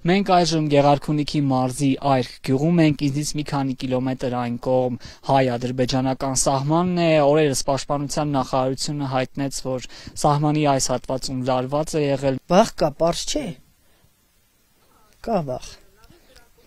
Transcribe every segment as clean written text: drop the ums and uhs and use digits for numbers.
Մենք այժմ Գեղարքունիքի մարզի Այրք գյուղում ենք, ինձնից մի քանի կիլոմետր այն կողմ հայ-ադրբեջանական սահմանն է, օրերս Պաշտպանության նախարարությունը հայտնեց, որ սահմանի այս հատվածում լարված է եղել։ Վախ կա, պարզ չէ։ Կա վախ։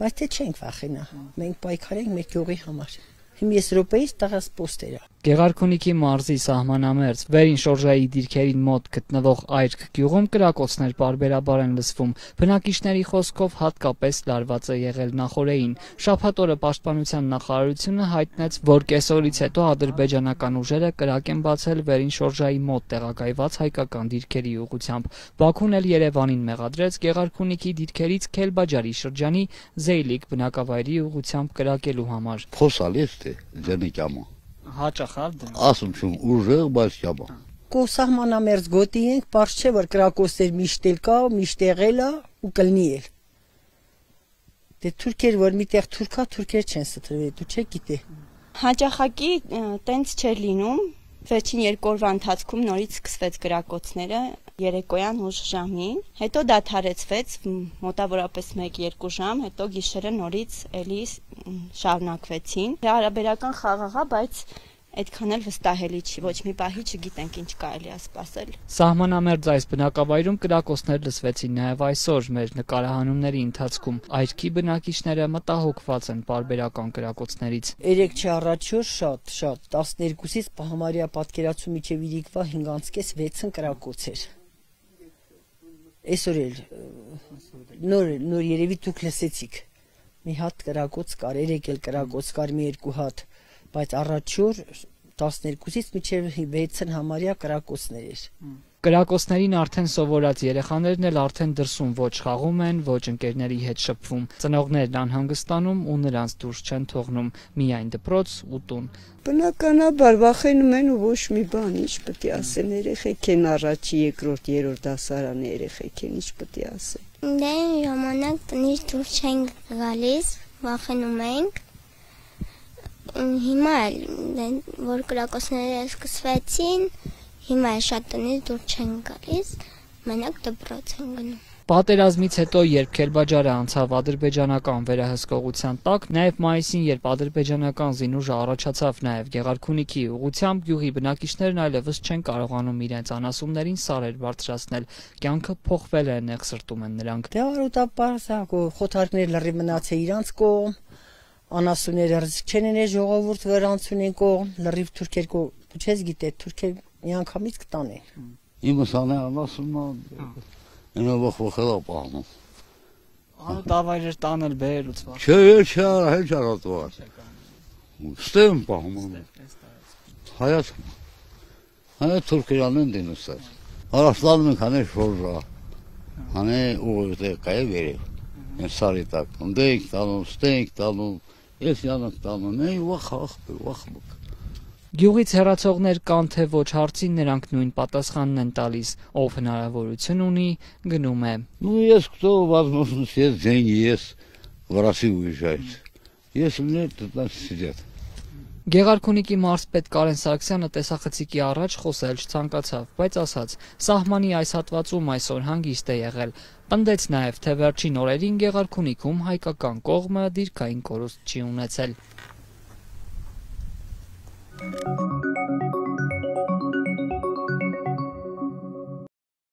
Բայց թե չենք վախենա, մենք պայքարենք մեր գյուղի համար։ Հիմա ես րոպեից տղաս պոստերա։ Գեղարքունիքի մարզի սահմանամերձ վերին շորժայի դիրքերին մոտ գտնվող Այրք գյուղում կրակոցներ պարբերաբար են լսվում։ Բնակիչների խոսքով հատկապես լարված է եղել նախօրեին։ Շաբաթ օրը Պաշտպանության նախարարությունը հայտնեց, որ կեսօրից հետո ադրբեջանական ուժերը կրակ են բացել վերին շորժայի մոտ տեղակայված հայկական դիրքերի ուղղությամբ։ Բաքուն էլ Երևանին մեղադրեց Գեղարքունիքի դիրքերից Քելբաջարի շրջանի Զեյլիկ բնակավայրի ուղղությամբ կրակելու համար։ Հաճախալ ասում չում ուժեղ, բայց ճաբա։ Կո սահմանամերձ գոտի ենք, պարզ չէ, որ կրակոցներ միշտ էլ կա, միշտ եղել է ու կլինի էլ։ Դե թուրքեր, որ միտեղ թուրքա, թուրքեր չեն ստրվել, դու չէ գիտե։ Հաճախակի տենց չէր լինում, վերջին 2 օրվա ընթացքում նորից սկսվեց կրակոցները երեկոյան ուշ ժամին, հետո դադարեցվեց մոտավորապես 1-2 ժամ, հետո գիշերը նորից էլի շարունակվեցին։ Հարաբերական խաղաղ է, բայց այդքան էլ վստահելի չի, ոչ մի պահի չգիտենք ինչ կարելի է սպասել։ Սահմանամերձ այս բնակավայրում կրակոցներ լսվեցին նաև այսօր մեր նկարահանումների ընթացքում։ Այրքի բնակիչները մտահոգված են պարբերական կրակոցներից։ 3 չի առաջուր շատ 12-ից համարյա պատկերացու միջև իրիկվա 5:30-6-ն կրակոց էր։ Այսօր էլ նոր երևի դուք լսեցիք։ Մի հատ կրակոց կար, 3 էլ կրակոց կար, մի 2 հատ, բայց առաջուր 12-ից մինչև 6-ն համարյա կրակոցներ էր։ Կրակոցներին արդեն սովորած երեխաներն էլ արդեն դրսում ոչ խաղում են, ոչ ընկերների հետ շփվում։ Ծնողներն անհանգստանում ու նրանց դուրս չեն թողնում, միայն դպրոց ու տուն։ Բնականաբար վախենում են ու ոչ մի բան, ինչ պետք է ասեն, երեխեք են առաջի, երկրորդ, երրորդ դասարանի երեխեք են, ինչ պետք է ասեն։ Դե ժամանակ տնից դուրս չենք գալիս, վախենում ենք։ Հիմա որ կրակոցները սկսվեցին, հիմա շատ տնից դուրս չենք գալիս, մենակ դպրոց ենք գնում։ Պատերազմից հետո, երբ Քելբաջարը անցավ ադրբեջանական վերահսկողության տակ, նաև մայիսին, երբ ադրբեջանական զինուժը առաջացավ նաև Գեղարքունիքի ուղղությամբ, գյուղի բնակիչներն այլևս չեն կարողանում իրենց անասուններին սարեր բարձրացնել։ Կյանքը փոխվել է, նեղսրտում են նրանք։ Դե արուտապարսակ խոթարքներ լրիվ մնացել իրանց կողմ, անասունները ռզիկ չեն են ժողովուրդ վրանցուն են կողմ, լրիվ թուրքեր կողմ, դու չես գիտե, թուրքեր միանգամից կտանեն։ Իմս անե անասունը ինը վախվախել է պահնում։ Անուտավայրեր տանել բերելուց վախ։ Չէ, հեչ արատվար։ Ստեմ պահում։ Հայա թուրքերան են դինուսար։ Արասլանում ենք հանե շորժա, հանե ուղղը կայ վերև։ Են սարի տակ, ընդե ենք տանում, ստե ենք տանում, ես յանք տանում, նեի վախ։ Գյուղից հեռացողներ կան թե ոչ հարցին նրանք նույն պատասխանն են տալիս, ով հնարավորություն ունի, гնում է։ Ну, есть кто, возможно, есть деньги, есть в Россию уезжают. Если нет, то там сидят. Գեղարքունիքի մարզպետ Կարեն Սարգսյանը տեսախցիկի առաջ խոսել չցանկացավ, բայց ասաց, սահմանի այս հատվածում այսօր հանգիստ է եղել։ Պնդեց նաև, թե վերջին օրերին Գեղարքունիքում հայկական կողմը դիրքային կորուստ չի ունեցել։